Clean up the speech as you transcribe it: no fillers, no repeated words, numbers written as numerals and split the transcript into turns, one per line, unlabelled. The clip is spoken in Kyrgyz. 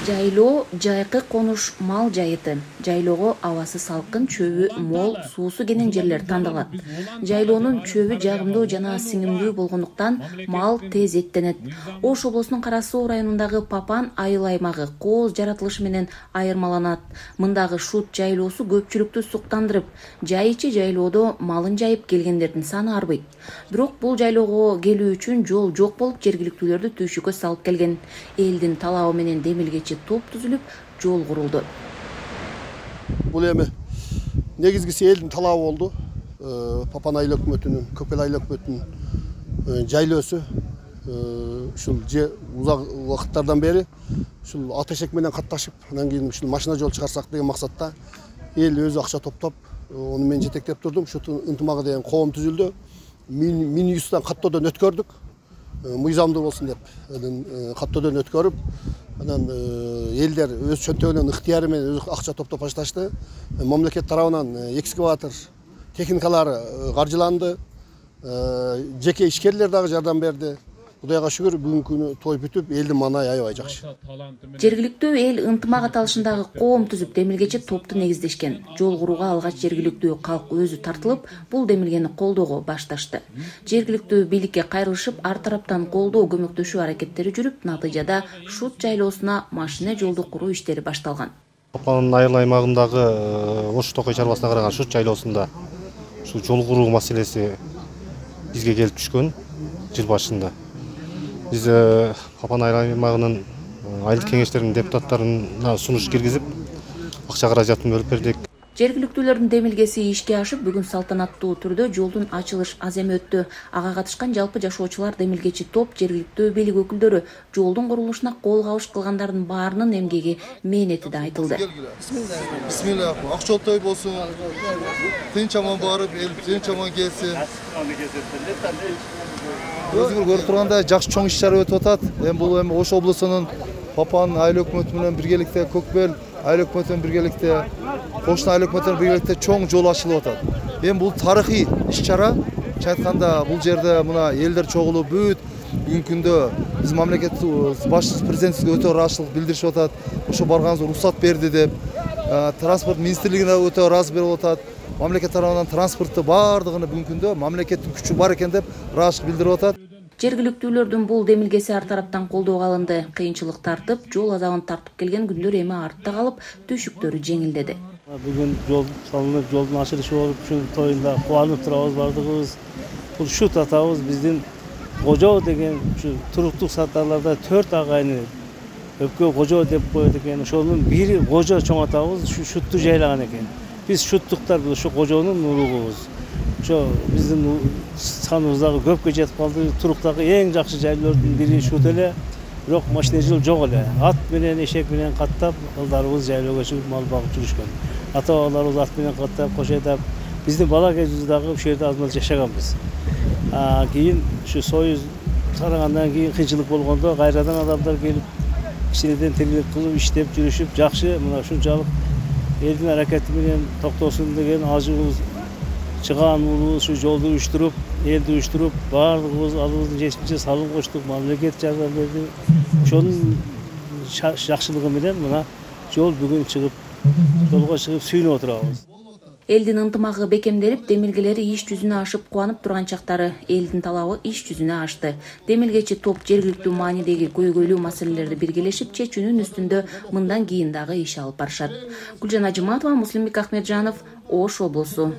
Жайлоо жайкы конуш мал жайыты. Жайлоого абасы салкын, чөбү мол, суусу кенен жерлер тандалат. Жайлоонун чөбү жагымдуу жана сиңимдүү болгондуктан мал тез эттенет. Ош облусунун Кара Суу районундагы Папан айыл аймагы кооз жаратылышы менен айырмаланат. Мындагы Шут жайлоосу көпчүлүктү суктандырып, жай ичи жайлоодо малын жайып келгендердин саны арбыйт. Бирок бул жайлоого келүү үчүн жол жок болуп, жергиликтүүлөрдү түйшүккө салып келген. Элдин талабы менен демилгечи топ түзүлүп, жол курулду.
Бул эми негизгиси элдин талабы болду. Папан айыл өкмөтүнүн, Көкөл айыл өкмөтүнүн жайлоосу ушул узак убакыттардан бери ушул ата эшек менен катташып, анан кийин ушул машина жол чыгарсак деген максатта эл өзү акча топтоп, ону мен жетектеп турдум. Ушул ынтымагы деген коом түзүлдү. Мин-100тан каттоодон өткөрдүк. Мыйзамдуу болсун деп, каттоодон өткөрүп, анан элдер өз чөнтөгүнөн ыктыяры менен өзү акча топтоп башташты. Мамлекет тарабынан экскаватор техникалары каржыланды. Жеке ишкерлер дагы жардам берди. Кудайга шүгүр, бүгүнкү күнү той бүтүп, элдин маанайы аябай жакшы.
Жергиликтүү эл ынтымак аталышындагы коом түзүп, демилгечи топту негиздешкен. Жол курууга алгач жергиликтүү калк өзү тартылып, бул демилгени колдоого башташты. Жергиликтүү бийликке кайрылышып, ар тараптан колдоо, көмөктөшүү аракеттери жүрүп, натыйжада Шут жайлоосуна машина жолду куруу иштери башталган.
Папан айыл аймагындагы Ош Токой чарбасына караган Шут жайлоосунда ушул жол куруу маселеси бизге келип түшкөн жыл башында. Биз Папан айыл аймагынын айыл кеңештеринин депутаттарына сунуш киргизип, акча каражатын бөлүп бердик.
Жергиликтүүлөрдүн демилгеси ишке ашып, бүгүн салтанаттуу түрдө жолдун ачылыш аземи өттү. Ага катышкан жалпы жашоочулар, демилгечи топ, жергиликтүү бийлик өкүлдөрү, жолдун курулушуна кол кабыш кылгандардын баарынын эмгеги, мээнети да айтылды.
Бисмилlah, ак жол той болсун. Тынч аман барып, эл тынч аман келсин. Өзүңөр көрүп тургандай жакшы чоң иш-чара өтүп атат. Бул эми Ош облусунун Папан айыл өкмөтү менен биргеликте, Көкбел айыл өкмөтү менен биргеликте, Кошуна айыл өкмөтү менен биргеликте чоң жол ачылып атат. Бул тарыхый иш-чара. Айтканда бул жерде мына элдер чогулуп, бүт бүгүнкү күндө биз мамлекет башчысы президентибизге өтө ыраазычылык билдиришип атат. Ошо барганыбызга уруксат берди деп, транспорт министрлигине өтө ыраазы берип атат. Мамлекет тарабынан транспортты баардыгына бүгүнкү күндө мамлекеттин күчү бар экен деп ыраазычылык билдирип атат.
Жергиликтүүлөрдүн бул демилгеси ар тараптан колдоого алынды. Кыйынчылык тартып, жол азабын тартып келген күндөр эми артта калып, түйшүктөрү жеңилдеди.
Бүгүн жол салынып, жолдун ачылышы болуп, ушул тоюнда кубанып турабыз бардыгыбыз. Бул Шут атабыз биздин Кожо деген ушу туруктук саттарларда 4 агайны өпкө Кожо деп коет экен. Ошонун бири Кожо чоң атабыз ушу Шутту жайлаган экен. Биз шуттуктар ушу Кожонун улугубуз. Ошо биздин саныбыз дагы көпкө жетип калды. Туруктагы эң жакшы жайлоордун бири Шут эле. Бирок машина жол жок эле. Ат менен, эшек менен каттап, кылдарыбыз жайлоого чыгып мал багып жүрүшкөн. Ата-бабаларыбыз ат менен каттап, кош айдап, биздин бала кезибизде дагы ушул жерде аз маз жашаганбыз. Кийин ушу Союз тарагандан кийин кыйынчылык болгондо кайрадан адамдар келип, кичинеден тирилик кылып, иштеп жүрүшүп, жакшы мына ушунчалык элдин аракети менен токтосун деген ажыбыз чыгааныбыз ушу жолду уюштуруп, элди уюштуруп, баардыгыбыз алыбыздын жешимче салым коштук, мамлекет жардам берди. Ошонун жакшылыгы менен мына жол бүгүн жолго чыгып сүйүнүп отурабыз.
Элдин ынтымагы бекемделип, демилгелери иш жүзүнө ашып кубанып турган чактары элдин талабы иш жүзүнө ашты. Демилгечи топ жергиликтүү маанидеги көйгөйлүү маселелерди биргелешип чечүүнүн үстүндө мындан кийин дагы иш алып барышат. Гүлжан Ажыматова, Муслимбек Ахмеджанов, Ош облусу.